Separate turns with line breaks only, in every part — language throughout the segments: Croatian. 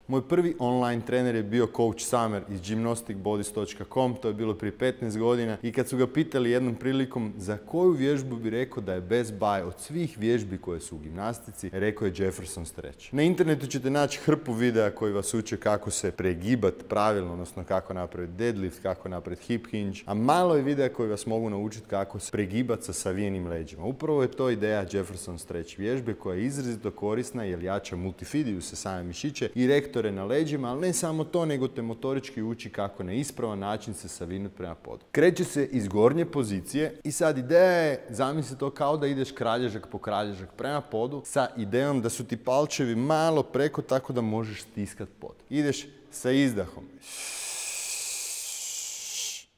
Moj prvi online trener je bio coach Samer iz gymnasticbodies.com, to je bilo prije 15 godina i kad su ga pitali jednom prilikom za koju vježbu bi rekao da je best buy od svih vježbi koje su u gimnastici, rekao je Jefferson Stretch. Na internetu ćete naći hrpu videa koji vas uče kako se pregibati pravilno, odnosno kako napraviti deadlift, kako napraviti hip hinge, a malo je videa koji vas mogu naučiti kako se pregibati sa savijenim leđima. Upravo je to ideja Jefferson Stretch vježbe koja je izrazito korisna jer jača multifidiju se same mišiće i rektore na leđima, ali ne samo to, nego te motorički uči kako na ispravan način se savinuti prema podu. Kreće se iz gornje pozicije i sad ideja je, zamisli to kao da ideš kralježak po kralježak prema podu sa idejom da su ti palčevi malo preko tako da možeš stiskati pod. Ideš sa izdahom.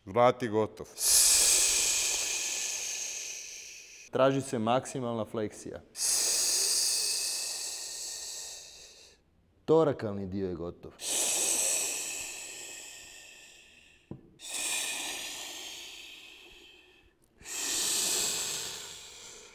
Vrat je gotov. Traži se maksimalna fleksija. Torakalni dio je gotov.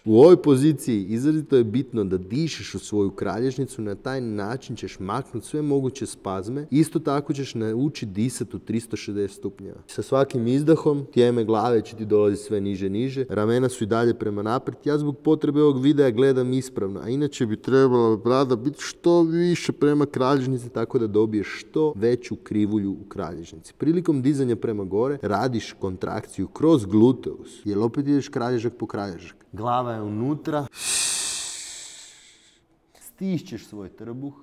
U ovoj poziciji izrazito je bitno da dišeš u svoju kralježnicu, na taj način ćeš maknuti sve moguće spazme. Isto tako ćeš naučiti disati u 360 stupnjeva. Sa svakim izdahom tijeme glave će ti dolaziti sve niže, niže. Ramena su i dalje prema naprijed. Ja zbog potrebe ovog videa gledam ispravno, a inače bi trebala brada biti što više prema kralježnici tako da dobiješ što veću krivulju u kralježnici. Prilikom dizanja prema gore radiš kontrakciju kroz gluteus, jer opet ideš kralježak po kralježak. Glava je unutra. Stišćeš svoj trbuh.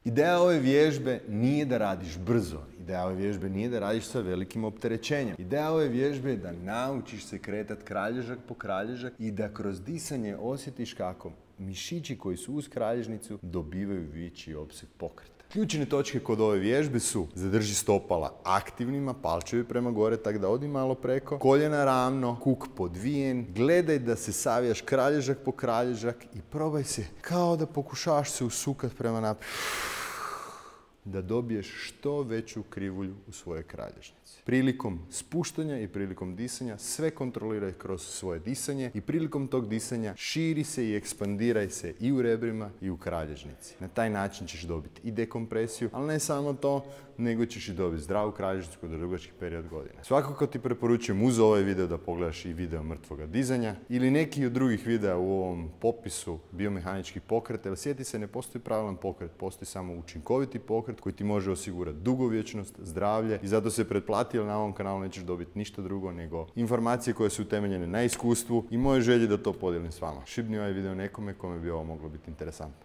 Ideja ove vježbe nije da radiš brzo. Ideja ove vježbe nije da radiš sa velikim opterećenjem. Ideja ove vježbe je da naučiš se kretati kralježak po kralježak i da kroz disanje osjetiš kako mišići koji su uz kralježnicu dobivaju veći opseg pokreta. Ključne točke kod ove vježbe su: zadrži stopala aktivnima, palčevi prema gore, tako da odi malo preko, koljena ravno, kuk podvijen, gledaj da se savijaš kralježak po kralježak i probaj se kao da pokušavaš se usukat prema naprijed, da dobiješ što veću krivulju u svojoj kralježnici. Prilikom spuštanja i prilikom disanja sve kontroliraj kroz svoje disanje i prilikom tog disanja širi se i ekspandiraj se i u rebrima i u kralježnici. Na taj način ćeš dobiti i dekompresiju, ali ne samo to, nego ćeš i dobiti zdravu kralježnicu kod dugački period godina. Svakako ti preporučujem uz ovaj video da pogledaš i video mrtvoga dizanja ili neki od drugih videa u ovom popisu biomehaničkih pokreta, jer sjeti se, ne postoji pravilan pokret, postoji samo učinkoviti pokret koji ti može osigurati dugovječnost, zdravlje i zato se pretplati, jer na ovom kanalu nećeš dobiti ništa drugo nego informacije koje su utemeljene na iskustvu i moje želje da to podijelim s vama. Šibni ovaj video nekome kome bi ovo moglo biti interesantno.